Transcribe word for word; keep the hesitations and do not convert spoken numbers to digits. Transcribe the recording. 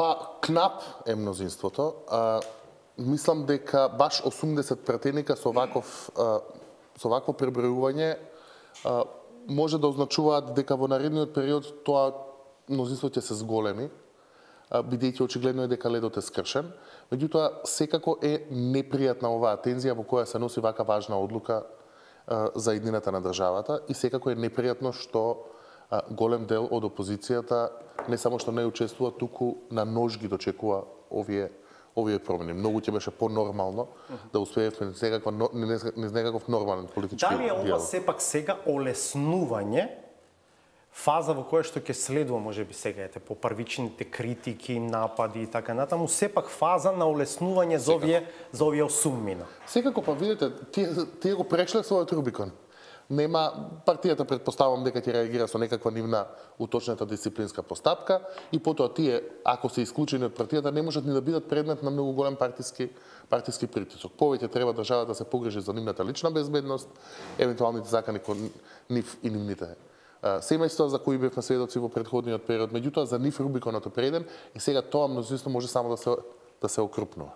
Па, кнап е мнозинството. А, мислам дека баш осумдесет пратеника со ваков а, со вакво пребројување а, може да означуваат дека во наредниот период тоа мнозинство ќе се зголеми, бидејќи очигледно е дека ледот е скршен. Меѓутоа, секако е непријатна оваа тензија во која се носи вака важна одлука а, за иднината на државата и секако е непријатно што а, голем дел од опозицијата не само што не учествува, туку на нож ги дочекува овие овие промени. Многу ќе беше понормално uh -huh. да успеевме некаква низ некаков нормален политички диалог. Дали е ова сепак сега олеснување фаза во која што ќе следува, можеби сега ете по првичните критики, напади и така натаму, сепак фаза на олеснување за овие за овие осум мина. Секако, па видите, тие тие го прешле својот Рубикон. Нема, партијата предпоставам дека ќе реагира со некаква нивна уточната дисциплинска постапка и потоа тие, ако се исклучени од партијата, не можат ни да бидат предмет на многу голем партиски партиски притисок. Повеќе треба државата да се погрижи за нивната лична безбедност, евентуалните закани кон нив и нивните семејства за кои бевме сведоци во претходниот период. Меѓутоа, за нив Рубиконот е преден и сега тоа мнозинство може само да се да се окрупнува.